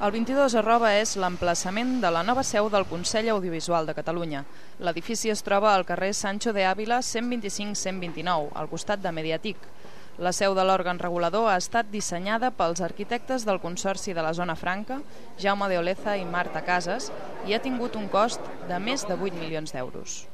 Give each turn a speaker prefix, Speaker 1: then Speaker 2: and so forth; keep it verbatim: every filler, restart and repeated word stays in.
Speaker 1: El vint-i-dos arroba és l'emplaçament de la nova seu del Consell Audiovisual de Catalunya. L'edifici es troba al carrer Sancho de Ávila cent vint-i-cinc cent vint-i-nou, al costat de Mediatic. La seu de l'òrgan regulador ha estat dissenyada pels arquitectes del Consorci de la Zona Franca, Jaume de Oleza i Marta Casas, i ha tingut un cost de més de vuit milions d'euros.